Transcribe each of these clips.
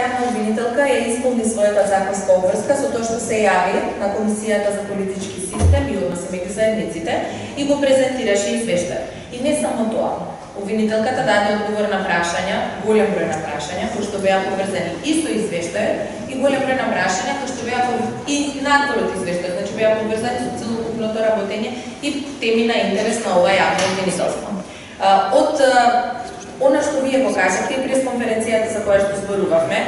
јавна обвинителка ја исполни својата законска обврска со тоа што се јави на Комисијата за политички систем и односи меѓу заедниците и го презентираше извештај. И не само тоа. Обвинителката даде одговор на прашања, голем број на прашања, кои што беа поврзани и со извештајот, и голем број на прашања кои што беа и надвор од извештајот, значи беа поврзани со целокупното работење и теми на интерес на ова јавно обвинителство. Од она што вие го кажавте и пресконференцијата за која што зборувавме,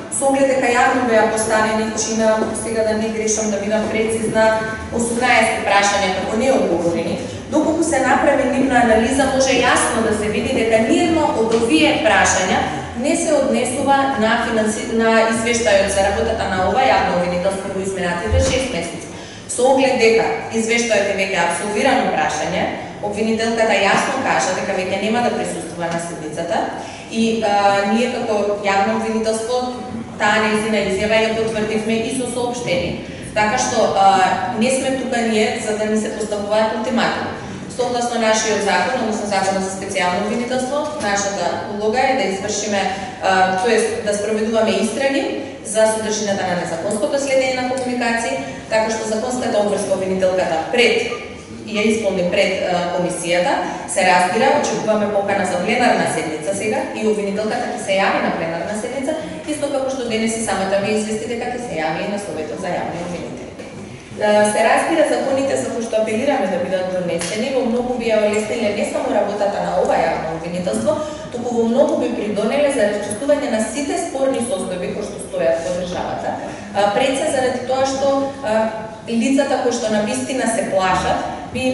со оглед дека јавно беа поставени, чина, сега да не грешам да бидам прецизна, 18 прашања како не одговорени, доколку се направи нивна анализа, може јасно да се види дека ниедно од овие прашања не се однесува на извештајот за работата на ова јавно обвинителство во изминатите 6 месеци. Со оглед дека извештајот е веќе апсолвирано прашање, обвинителката јасно кажа дека веќе нема да присуствува на седницата и ние како јавно обвинителство таа нејзина изјава ја потврдивме и со соопштение. Така што не сме тука ние за да ни се поставуваат ултиматуми. Согласно нашиот закон, односно законот за специјално обвинителство, нашата улога е да извршиме, тоест да спроведуваме истраги за содржината на незаконското следење на комуникации, така што законската обврска обвинителката пред ја исполни пред комисијата, се разбира, очекуваме покана за пленарна седница сега и обвинителката ќе се јави на пленарна седница, исто како што денес и самата ви извести дека ќе се јави и на Советот за јавни обвинители. Се разбира, законите за кои што апелираме да бидат донесени, во многу би ја олесниле не само работата на ова јавно обвинителство, туку во многу би придонеле за расчистување на сите спорни состојби кои што стојат во државата, пред се заради тоа што лицата кои што навистина се плашат, би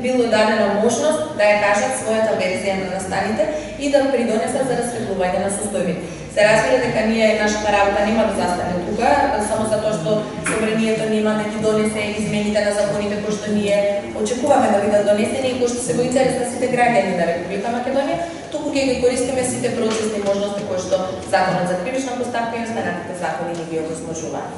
било дадена можност да ја кажат својата верзија на настаните и да придонесат за расветлување на состојбите. Се разбира дека ние нашата работа нема да застане тука, само затоа што собранието нема да ги донесе измените на законите кои што ние очекуваме да бидат донесени и кои што се во интерес на сите граѓани на Република Македонија, туку ќе ги користиме сите процесни можности кои што Законот за кривична постапка и останатите закони ни ги овозможуваат.